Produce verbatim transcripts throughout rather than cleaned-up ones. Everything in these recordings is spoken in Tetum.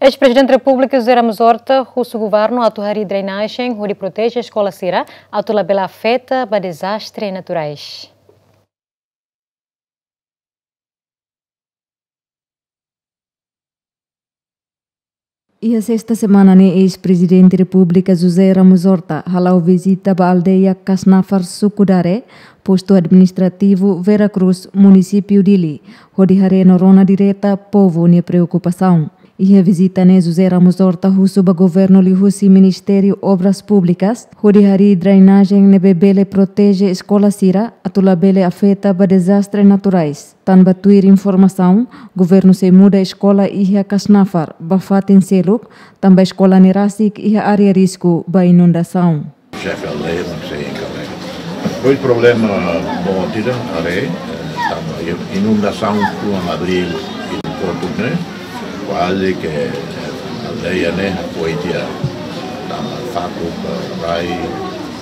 Eis-Prezidente Repúblika José Ramos Horta husu governu atu harii drenajen hodi proteje eskola sira atu labele afeta ba dezastre naturais. Iha sesta semana ne'e, eis-Prezidente Repúblika José Ramos Horta hala'o vizita ba aldeia Kasnafar, suku Dare, postu administrativu Vera Cruz, munisípiu Dili, hodi haree no rona direta povu nia preokupasaun. Iha vizita ne'e, José Ramos Horta husu ba governu liuhusi Ministériu Obras Públikas hodi harii drenajen ne'ebé bele proteje eskola sira atu labele afeta ba dezastre naturais. Tanba tuir informasaun, governu sei muda eskola iha Kasnafar ba fatin seluk, tanba eskola ne'e rasik iha área risku ba inundasaun. Xefe aldeia mak sei enkarrega. Pois problema boot ida haree, eh, tanba inundasaun tuan abríl iha Kotuk ne'e, kuaze ke, eh, aldeia ne'e hakoi tiha, tanba fatuk, eh, rai,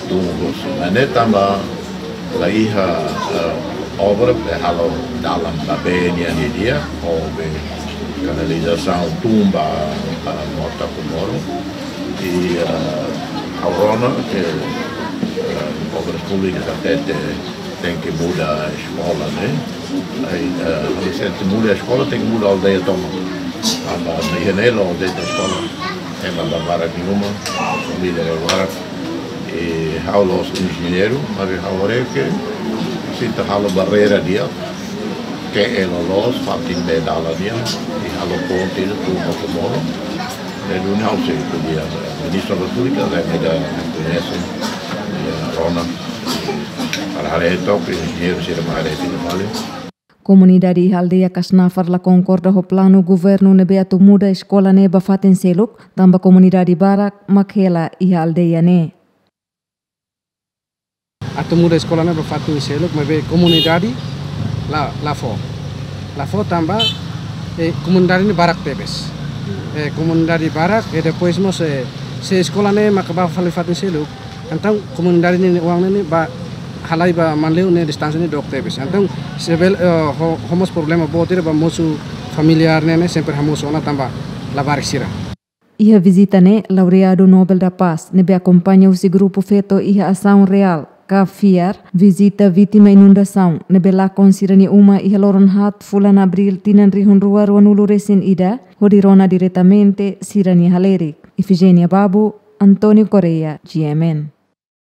tun hosi. Maibé tanba la iha, eh, obra, eh, halo dalan ba bee nian didi'ak, ho be kanalizasaun tun ba, eh, Mota Comoro. I, eh, ha'u rona ke, eh, Obras Públikas hatete tenke muda eskola ne'e. Ai, eh, ha'u sente muda eskola, tenke muda aldeia tomak. Tanba iha ne'e la'o de'it eskola. Ema barak iha uma, família barak. I ha'u la'ós enjeñeiru, maibé ha'u haree ke sei atu halo barreira di'ak, ke elo loos, fatin bee dalan nian, i halo ponte, tun ba Comoro. Ne'e duni ha'u sei ko'alia, eh, Ministru Obras Públikas, eh, ne'e mak koñese, eh, rona. Para haree took, enjeñeiru sira mak haree tiha fali. Komunidade iha aldeia Kasnafar la konkorda ho planu governu ne'ebé atu muda eskola ne'e ba fatin seluk, tanba komunidade barak mak hela iha aldeia ne'e. Atu muda eskola ne'e ba fatin seluk, maibé komunidade la, la fó. La fó tanba, eh, komunidade ne'e barak tebes. Eh, komunidade barak, i depois mós, eh, se eskola ne'e maka ba fali fatin seluk, entaun komunidade ne'e oan ne'e ba halai ba Manleu ne'e distánsia ne'e dook tebes. Entaun, se bele, eh, ho, ho mós problema boot ida ba mosu familiár ne'e, ne'e sempre hamosu ona tanba labarik sira. Iha vizita ne'e, Laureadu Nobel da Paz ne'ebé akompaña husi grupu feto iha Asaun Reál, ka FIAR, vizita vítima inundasaun ne'ebé lakon sira-nia uma iha loron haat fulan abríl tinan rihun rua ruanulu resin ida, hodi rona diretamente sira-nia halerik. Ifigénia Babu, António Correia, G M N.